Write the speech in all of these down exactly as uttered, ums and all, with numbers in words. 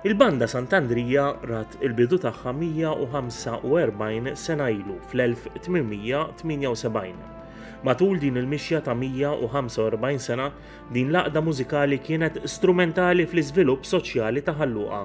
Il-banda Sant'Andrija rat il-bidu tagħha mija u ħamsa u erbgħin sena ilu fl-elf tmien mija tmienja u sebgħin. Matul din il-mixja ta' mija u ħamsa u erbgħin sena, din l-għaqda mużikali kienet strumentali fl-iżvilupp soċjali ta' Ħal Luqa.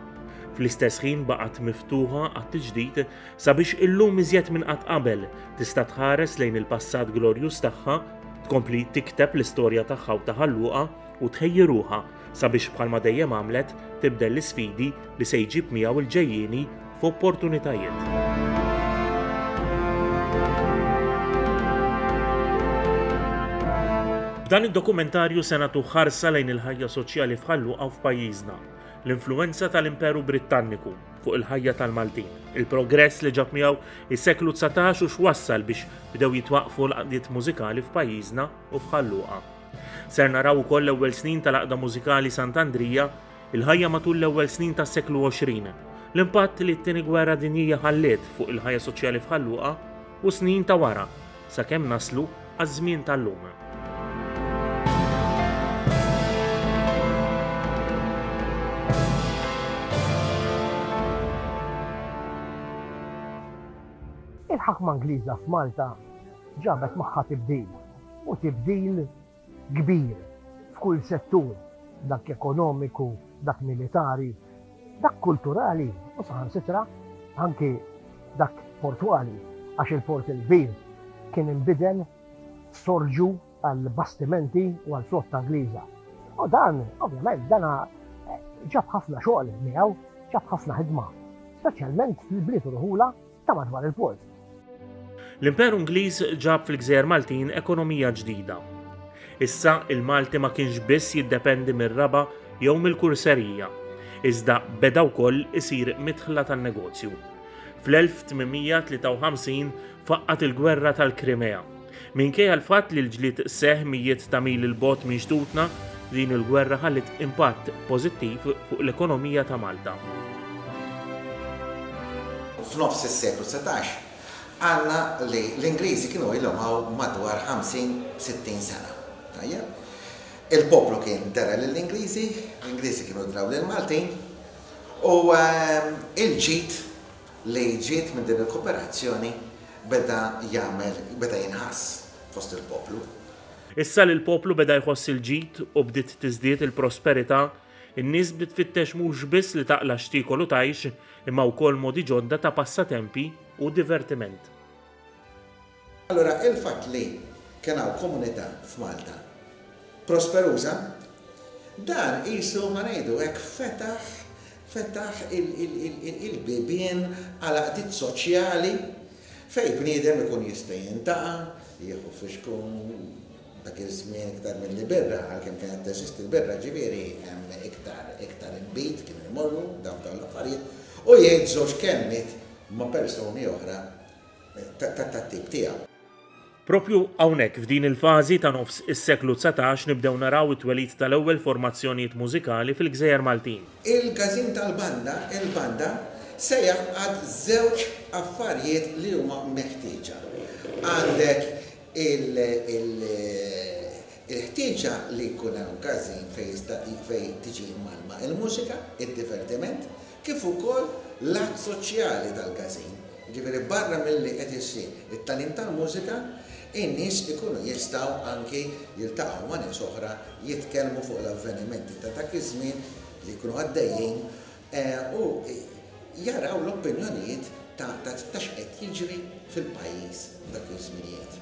Fl-istess ħin baqgħet miftuħa għat-tiġdid sabiex illum iżjed minn qatt qabel tista' tħares lejn il-passat glorjuż tagħha, tkompli tikteb l-istorja tagħha u ta' Ħal Luqa u tħejji ruħha sabiex bħalma dejjem għamlet tibdel l-isfidi li se jġib miegħu l-ġejjieni f'opportunitajiet. B'dan id-dokumentarju se nagħtu ħarsa lejn il-ħajja soċjali f'Ħal Luqa u f'pajjiżna, l-influenza tal-Imperu Brittanniku fuq il-ħajja tal-Maltin, il-progress li ġab miegħu is-seklu dsatax u x'wassal biex bdew jitwaqqfu l-għaqdiet mużikali f'pajjiżna u f'Ħal Luqa. Ser naraw ukoll l-ewwel snin tal-għaqda mużikali Sant'Andrija, il-ħajja matul l-ewwel snin tas-seklu għoxrin, l-impatt li t-tieni gwerra dinjija ħalliet fuq il-ħajja soċjali f'Ħal Luqa u snin ta' wara sakemm naslu għaż-żmien tal-lum. Il-ħakma Ingliża f'Malta ġabet magħha tibdil, u tibdil kbir f'kull settur, dak ekonomiku, dak militari, dak kulturali u saħansitra anki dak portwali, għax il-port il-kbir kien inbidel sorġu għal bastimenti u għal flotta Ingliża. U dan, ovvjament, dana ġab ħafna xogħol miegħu, ġab ħafna ħidma, speċjalment fil-bliet u rħula ta' madwar il-port. L-Imperu Ingliż ġab fil-Gżejjer Maltin ekonomija ġdida. Issa il-Malti ma kienx biss jiddependi mir-raba' jew mill-kurserija, iżda beda wkoll isir midħla tan-negozju. Fl-elf tmien mija tlieta u ħamsin faqqat il-gwerra tal-Krimea. Minkejja l-fatt li l-ġlied seħ mijiet ta' mil il-bogħod minn xtutna, din il-gwerra ħallit impatt pożittiv fuq l-ekonomija ta' Malta. F'nofs is-seklu dsatax għandna li l-Ingliżi kienu ilhom hawn madwar ħamsin sittin sena. Tajjeb? Il-poplu kien dera lill-Ingliżi, l-Ingliżi kienu draw lill-Maltin, u, ehm, il-ġid li ġiet minn din il-kooperazzjoni beda jagħmel, beda jinħass fost il-poplu. Issa li l-poplu beda jħoss il-ġid u bdiet tiżdied il-prosperità, in-nies bdiet tfittex mhux biss li taqla' x'tiekol u tgħix, imma wkoll modi ġodda ta' passatempi u divertiment. Allora, il-fatt li kien hawn komunità f'Malta prosperuża, dan qisu ma ngħidu hekk fetaħ, fetaħ il-, il-, il-, il-, il-bibien għal għaqdiet soċjali fej bniedem ikun jista' jintaqa', jieħu fixkun dak iż-żmien iktar milli birra, għalkemm kienet teżisti l-birra, ġifieri hemm iktar, iktar inbid kienu jmorru dawn dawn l-affarijiet u jgħid żewġ kelmiet ma' persuni oħra ta', ta', tat-tip tiegħu. Propju hawnhekk f'din il-fażi ta' nofs is-seklu dsatax nibdew naraw it-twelid tal-ewwel formazzjonijiet mużikali fil-Gżejjer Maltin. Il-każin tal-banda, il-banda, se jaqgħad żewġ affarijiet li huma meħtieġa. Għandek il-, il-, il-ħtieġa li jkun hemm każin fejn jista' fejn tiġi mgħallma il-mużika, id-divertiment, kif ukoll l-att soċjali tal-każin. Ġifieri barra milli qed issir it-tagħlim tal-mużika, in-nies ikunu jistgħu anki jiltaqgħu ma' nies oħra, jitkellmu fuq l-avvenimenti ta' dak iż-żmien li jkunu għaddejjin, eh, u jaraw l-opinjonijiet ta', ta', ta' x'qed jiġri fil-pajjiż f'dak iż-żminijiet.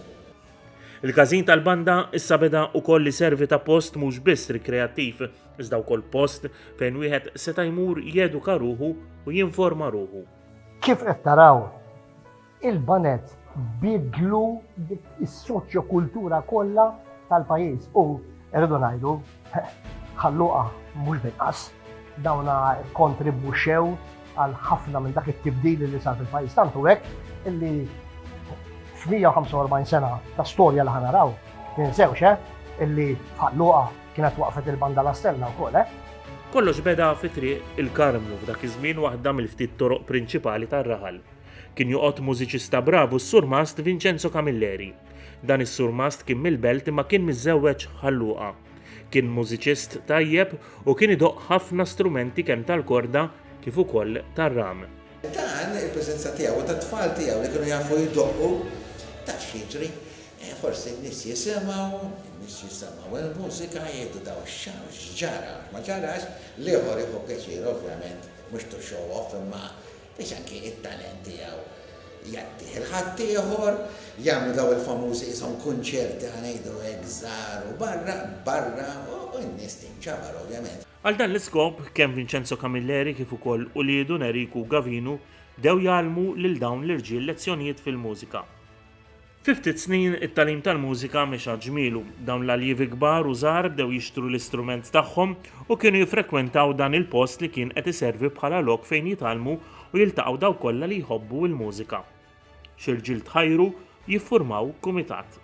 Il-każin tal-banda issa beda wkoll iservi ta' post mhux biss rikreattiv, iżda wkoll post fejn wieħed seta' jmur jeduka ruħu u jinforma ruħu. Kif qed taraw, il-banet bidlu dik is-soċjokultura kollha tal-pajjiż u rridu ngħidu Ħal Luqa mhux binqas dawna kontribwixxew għal ħafna minn dak it-tibdil li sar fil-pajjiż, tantu hekk illi f'mija u ħamsa u erbgħin sena ta' storja li ħanaraw, ninsewx, eh, illi Ħal Luqa kienet waqfet il-banda La Stella wkoll, eh? Kollox beda fi triq il-Karmnu f'dak iż-żmien waħda mill-ftit toroq prinċipali tar-raħal. Kien joqgħod mużiċista bravu s-surmast Vincenzo Camilleri. Dan is-surmast kien mill-belt imma kien miżżewweġ Ħal Luqa. Kien mużiċist tajjeb u kien idoqq ħafna strumenti kemm tal-korda kif ukoll tar-ram. Dan il-preżenza tiegħu u tat-tfal tiegħu li kienu jafu jdoqqu, taf x'jiġri, forsi n-nies jisimgħu, n-nies jisimgħu il-mużika, jgħidu daw x'ġara, ma ġarax, l-ieħor jieħu pjaċir ovvjament, mhux to show off imma biex anki it-talent tiegħu jagħtih il-ħaddieħor, jagħmlu daw il-famużi qishom kunċerti ħa ngħidu hekk żgħar u barra, barra u n-nies tinġabar ovvjament. Għal dan l-iskop, kemm Vincenzo Camilleri kif ukoll uliedu Neriku Gavinu bdew jgħallmu lil dawn l-irġiel lezzjonijiet fil-mużika. Fi ftit snin it-tagħlim tal-mużika mexa ġmielu, dawn l-aljievi kbar u żgħar bdew jixtru l-istrument tagħhom u kienu jiffrekwentaw dan il-post li kien qed iservi bħala lok fejn jitgħallmu u jiltaqgħu dawk kollha li jħobbu l-mużika. Xi rġiel tħajru jiffurmaw kumitat.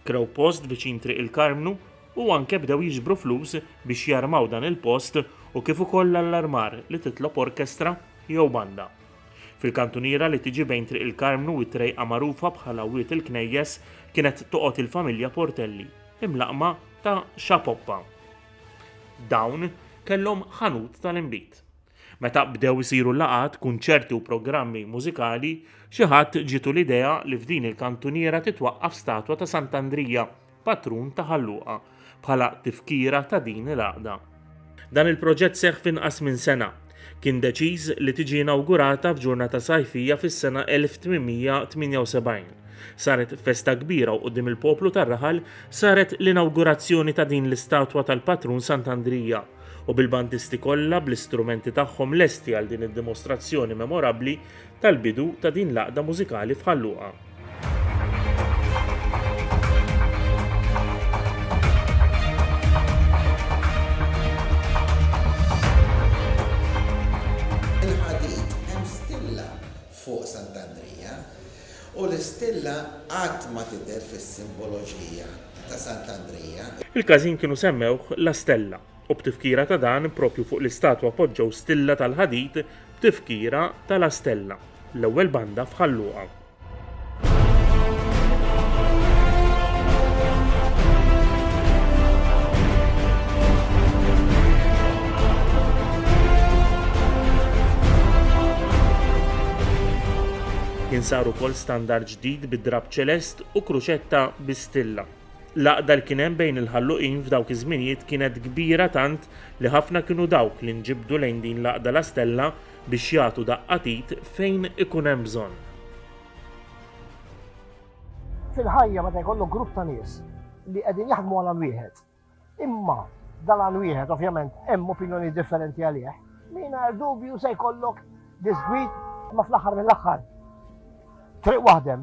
Krew post viċin Triq il-Karmnu u anke bdew jiġbru flus biex jarmaw dan il-post u kif ukoll l-allarmar li titlob orkestra jew banda. Fil-kantuniera li tiġi bejn Triq il-Karmnu u t-trejqa magħrufa bħala Wied il-Knejjes kienet toqgħod il-familja Portelli, imlaqma ta' Xapoppa. Dawn kellhom ħanut tal-inbid. Meta bdew isiru laqgħat, kunċerti u programmi mużikali, xi ħadd ġietu l-idea li f'din il-kantuniera titwaqqaf statwa ta' Sant'Andrija, patrun ta' Ħal Luqa, bħala tifkira ta' din il-għaqda. Dan il-proġett seħħ f'inqas minn sena. Kien deċiż li tiġi inawgurata f'ġurnata sajfija fis-sena elf tmien mija tmienja u sebgħin. Saret festa kbira u quddiem il-poplu tar-raħal saret l-inawgurazzjoni ta' din l-istatwa tal-patrun Sant'Andrija u bil-bandisti kollha bl-istrumenti tagħhom lesti għal din id-dimostrazzjoni memorabbli tal-bidu ta' din l-għaqda mużikali f'Ħal Luqa. Il-ħadid hemm stilla fuq Sant'Andrija u l-istilla qatt ma tidher fis-simboloġija ta' Sant'Andrija. Il-każin kienu semmewh La Stella u b'tifkira ta' dan propju fuq l-istatwa poġġew stilla tal-ħadid b'tifkira ta' La Stella, l-ewwel banda f'Ħal Luqa. Kien sar ukoll standard ġdid bid-drab ċelest u kruċetta bi stilla. L-għaqda li kien hemm bejn il-ħalluqin f'dawk iż-żminijiet kienet kbira tant li ħafna kienu dawk li nġibdu lejn din l-għaqda La Stella biex jagħtu daqqatit fejn ikun hemm bżonn. Fil-ħajja meta jkollok grupp ta' nies li qegħdin jaħdmu għal wieħed, imma dan għal wieħed ovvjament hemm opinjoni differenti għalih, mingħajr dubju se jkollok disgwid ma fl-aħħar mill-aħħar. Triq waħdem.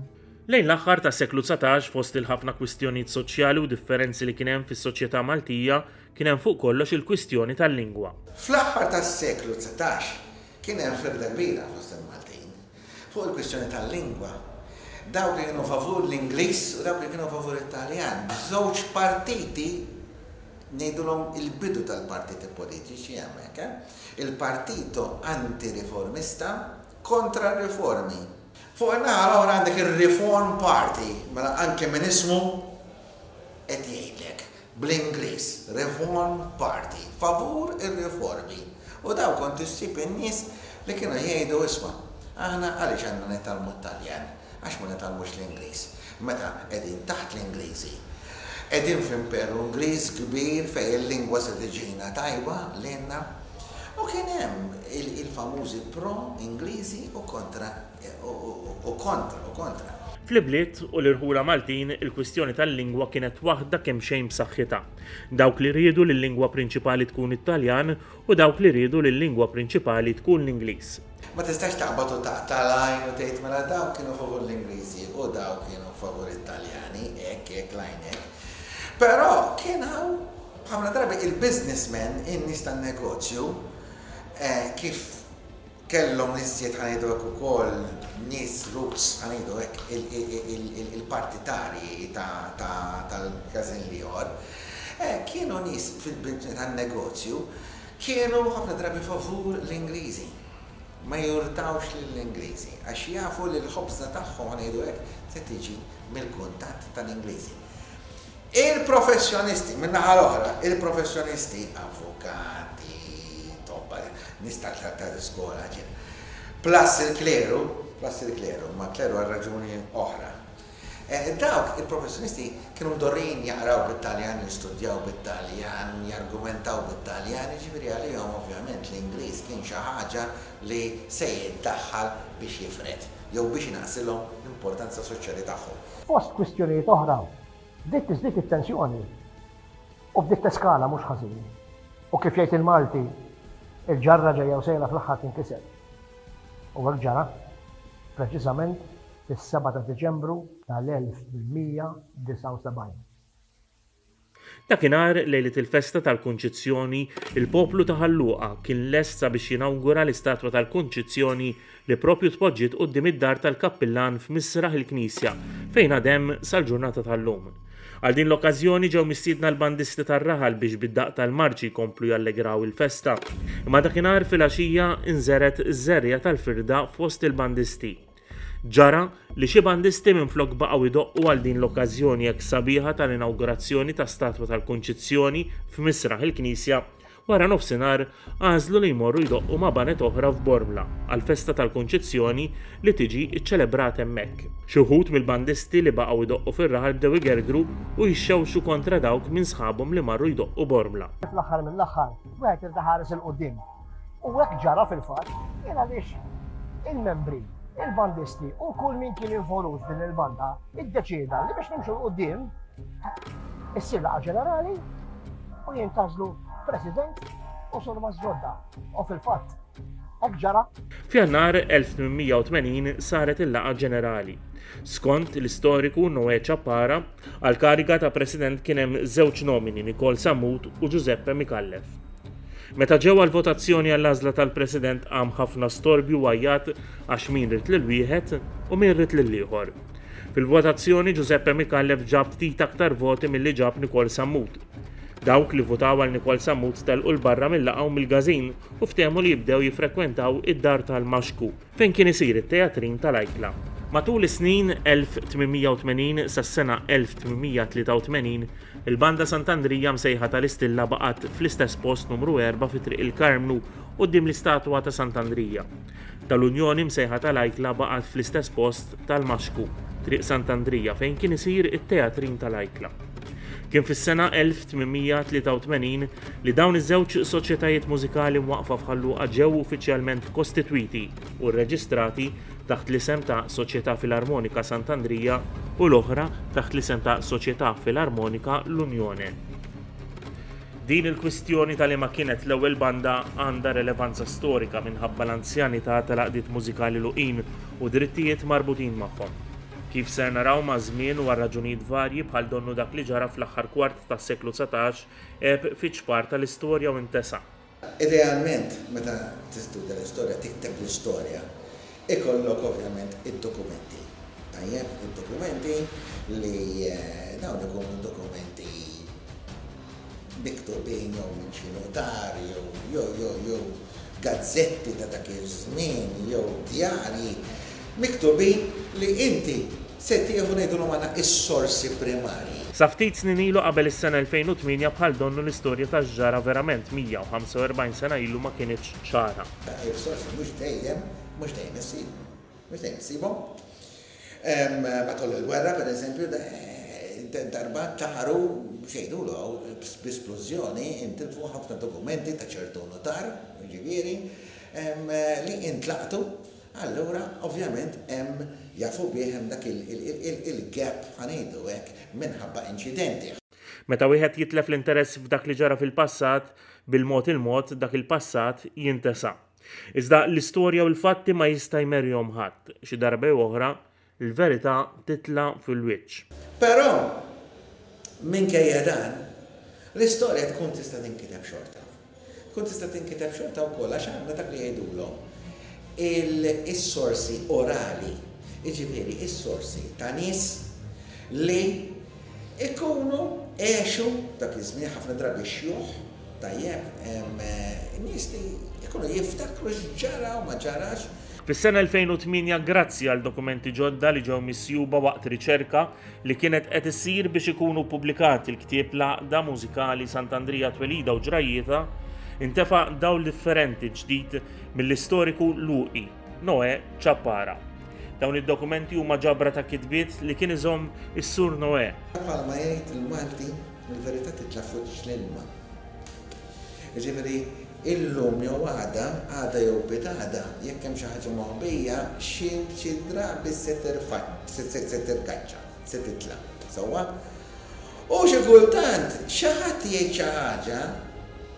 Lejn l-aħħar tas-seklu dsatax fost il-ħafna kwistjonijiet soċjali u differenzi li kien hemm fis-soċjetà Maltija kien hemm fuq kollox il-kwistjoni tal-lingwa. Fl-aħħar tas-seklu dsatax kien hemm firda kbira fost il-Maltin fuq il-kwistjoni tal-lingwa. Dawk li kienu favur l-Ingliż u dawk li kienu favur it-Taljan, b'żewġ partiti ngħidulhom il-bidu tal-partiti politiċi hemmhekk, eh? Il-partito antiriformista kontra r-riformi. Fuq in-naħa l-oħra għandek il-Reform Party, mela anke minn ismu qed jgħidlek bl-Ingliż, Reform Party, favur ir-riformi. U daw kont issib in-nies li kienu jgħidu isma' aħna għaliex għandna nitgħallmu t-Taljan, għax ma nitgħallmux l-Ingliż. Meta qegħdin taħt l-Ingliżi, qegħdin f'imperu Ingliż kbir fejn il-lingwa se tiġina tajba lilna. U kien hemm il-famużi pro-Ingliżi u kontra u kontra u kontra. Fl-ibliet u l-irħula Maltin il-kwistjoni tal-lingwa kienet waħda kemm xejn b'saħħitha. Dawk li riedu li l-lingwa prinċipali tkun it-Taljan u dawk li riedu li l-lingwa prinċipali tkun l-Ingliż. Ma tistax taqbad u taqta' l-għajn u tgħid mela dawk kienu favur l-Ingliżi u dawk kienu favur it-Taljani, hekk hekk l-għajn hekk. Però kien hawn ħafna drabi il-businessmen, in-nies tan-negozju, kif kellhom l-iżjed ħa ngħidu hekk ukoll nies roots ħa ngħidu hekk il-partitarji tal-każin l-ieħor, kienu nies fil-business tan-negozju kienu ħafna drabi favur l-Ingliżi. Ma jurtawx lill-Ingliżi għax jafu li l-ħobża tagħhom ħa ngħidu hekk se tiġi mill-kuntatt tal-Ingliżi. Il-professjonisti, min-naħa l-oħra, il-professjonisti, avukati, tobba, Nies tal-iskola ġen. Plus il-kleru, plus il-kleru, ma kleru għal raġuni oħra. Dawk il-professjonisti kienu mdorrijin jaqraw bit-Taljan, jistudjaw bit-Taljan, jargumentaw bit-Taljan, ġifieri għalihom ovvjament l-Ingliż kien xi ħaġa li se jiddaħħal biex jifred, jew biex inaqqsilhom l-importanza soċjali tagħhom. Fost kwistjonijiet oħra, bdiet tiżdied it-tensjoni u bdiet teskala mhux ħażin. U kif jgħid il-Malti, il-ġarra ġejja u sejra fl-aħħar tinkiser. U hekk ġara, preċiżament fis-seba' ta' Diċembru tal-elf tmien mija disgħa u sebgħin. Dakinhar lejlet il-festa tal-Kunċizzjoni, il-poplu ta' Ħal Luqa kien lest sabiex jinawgura l-istatwa tal-Kunċizzjoni li propju tpoġġiet quddiem id-dar tal-kappillan f'misraħ il-Knisja fejn għadem sal-ġurnata tal-lum. Għal din l-okkażjoni ġew mistiedna l-bandisti tar-raħal biex bid-daqq tal-marċi jkomplu jallegraw il-festa. Imma dakinhar filgħaxija inżeret iż-żerriegħa tal-firda fost il-bandisti. Ġara li xi bandisti minflok baqgħu jdoqqu għal din l-okkażjoni hekk sabiħa tal-inawgurazzjoni ta' statwa tal-Kunċizzjoni f'misraħ il-Knisja, wara nofsinhar għażlu li jmorru jdoqqu ma' baned oħra f'Bormla għall-festa tal-Kunċizzjoni li tiġi ċċelebrata hemmhekk. Xi wħud mill-bandisti li baqgħu jdoqqu fir-raħal bdew igergru u jixxewxu kontra dawk minn sħabhom li marru jdoqqu Bormla. Fl-aħħar mill-aħħar, wieħed irid iħares 'il quddiem. U hekk ġara fil-fatt, jien għaliex il-membri, il-bandisti u kull min kien involut din il-banda iddeċieda li biex nimxu 'l quddiem issir laqgħa ġenerali u jintgħażlu president u surmast ġodda. U fil-fatt, hekk ġara. F'Jannar elf tmien mija u tmenin saret il-laqgħa ġenerali. Skont l-istoriku Noè Ciappara, għal kariga ta' president kien hemm żewġ nomini, Nikol Sammut u Giuseppe Micallef. Meta ġew għal-votazzjoni għall-għażla tal-president qam ħafna storbju u għajjat għax min ried lil wieħed u min ried lil ieħor. Fil-votazzjoni Giuseppe Micallef ġab ftit aktar voti milli ġab Nikol Sammut. Dawk li votaw għal Nikol Sammut telqu 'l barra mill-laqgħa u mill-każin u ftehmu li jibdew jiffrekwentaw id-dar tal-Maxku fejn kien isir it-teatrin tal-Ajkla. Matul is-snin elf tmien mija u tmenin sas-sena elf tmien mija tlieta u tmenin, il-Banda Sant'Andrija msejħa tal-Istilla baqgħet fl-istess post numru erba' fi Triq il-Karmnu quddiem l-istatwa ta' Sant'Andrija. Tal-Unjoni msejħa tal-Ajkla baqgħet fl-istess post tal-Maxku, Triq Sant'Andrija, fejn kien isir it-teatrin tal-Ajkla. Kien fis-sena elf tmien mija tlieta u tmenin li dawn iż-żewġ soċjetajiet mużikali mwaqfa f'Ħal Luqa ġew uffiċjalment kostitwiti u rreġistrati taħt l-isem ta' Soċjetà Filarmonika Sant'Andrija u l-oħra taħt l-isem ta' Soċjetà Filarmonika l-Unjone. Din il-kwistjoni tal ma kienet l-ewwel banda għandha relevanza storika minħabba l-anzjanità tal-għaqdiet mużikali Luqin u drittijiet marbutin magħhom. Kif ser naraw ma' żmien u għal raġunijiet varji bħal donnu dak li ġara fl-aħħar kwart tas-seklu dsatax għeb fiċ-ċpar tal-istorja u intesa. Idealment, meta tistudja l-istorja, tikteb l-istorja, ikollok ovvjament id-dokumenti. Tajjeb, id-dokumenti li, eh, dawn ikunu dokumenti miktubin jew minn xi notar jew jew jew jew gazzetti ta' dak iż-żmien jew djarji miktubin li inti se tieħu ngħidulhom għandna is-sorsi primarji. Sa ftit snin ilu qabel is-sena elfejn u tmienja bħal donnu l-istorja ta' ġara verament mija u ħamsa u erbgħin sena ilu ma kienitx ċara. Is-sorsi mhux dejjem, mhux dejjem issib, mhux dejjem issibhom. Em, matul il-gwerra, per eżempju, da-, darba taru xejdulu b'esplużjoni intilfu ħafna dokumenti ta' ċertu notar, ġifieri, em, li intlaqtu. Allura, ovvjament, hemm jafu bih hemm dak il-, il-, il-, il-, il-gap ħa ngħidu hekk minħabba inċidenti. Meta wieħed jitlef l-interess f'dak li ġara fil-passat, bil-mod il-mod dak il-passat jintesa. Iżda l-istorja u l-fatti ma jista' jmerjhom ħadd. Xi darba jew oħra, il-verità titla' fil-wiċċ. Però, minkejja dan, l-istorja tkun tista' tinkiteb xorta. Tkun tista' tinkiteb xorta wkoll għax għandna dak li jgħidulhom il-sorsi orali, jiġifieri is-sorsi ta' nies li ikunu għexu dak iż-żmien ħafna drabi xjuħ, tajjeb, em, nies li ikunu jiftakru x'ġara u ma ġarax. Fis-sena elfejn u tmienja, grazzi għal dokumenti ġodda li ġew misjuba waqt riċerka li kienet qed issir biex ikunu ppubblikati l-ktieb l-Għaqda Mużikali Sant'Andrija Twelida u Ġrajjieta, Intefa' dawl differenti ġdid mill-istoriku Luqi, Noè Ciappara. Dawn id-dokumenti huma ġabra ta' kitbiet li kien iżomm is-Sur Noè. Bħalma jgħid il-Malti, il-verità titla' fuq l-ilma. Jiġifieri illum jew għada, għada jew pitgħada, jekk hemm xi ħaġa moħbija, xi xi drabi se terfa' se tirkaċċa, se titla'. Sewwa? U xi kultant xi ħadd jgħid xi ħaġa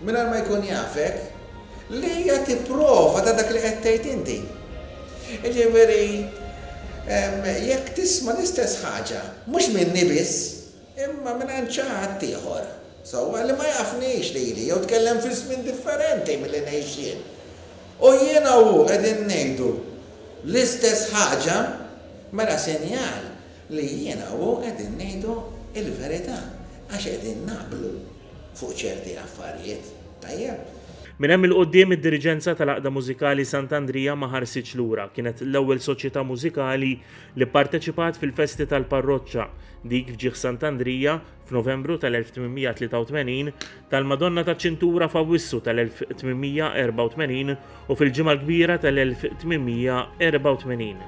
mingħajr ma jkun jafek li hija tipprova ta' dak li qed tgħid inti. Jiġifieri jekk tisma' l-istess ħaġa, mhux minni biss, imma minn xi ħadd ieħor. Sewwa li ma jafnix lili, jew tkellem fi żmien differenti milli ngħix jien. U jiena u qegħdin ngħidu l-istess ħaġa, mela sinjal li jiena u qegħdin ngħidu il-verità għax qegħdin naqblu fuq ċerti affarijiet. Tajjeb. Minn hemm 'il quddiem id-diriġenza tal-Għaqda Mużikali Sant'Andrija ma ħarsitx lura. Kienet l-ewwel soċjetà mużikali li pparteċipat fil-festi tal-parroċċa, dik f'ġieħ Sant'Andrija f'Novembru tal-elf tmien mija tlieta u tmenin, tal-Madonna taċ-Ċintura f'Awwissu tal-elf tmien mija erbgħa u tmenin u fil-Ġimgħa l-Kbira tal-elf tmien mija erbgħa u tmenin.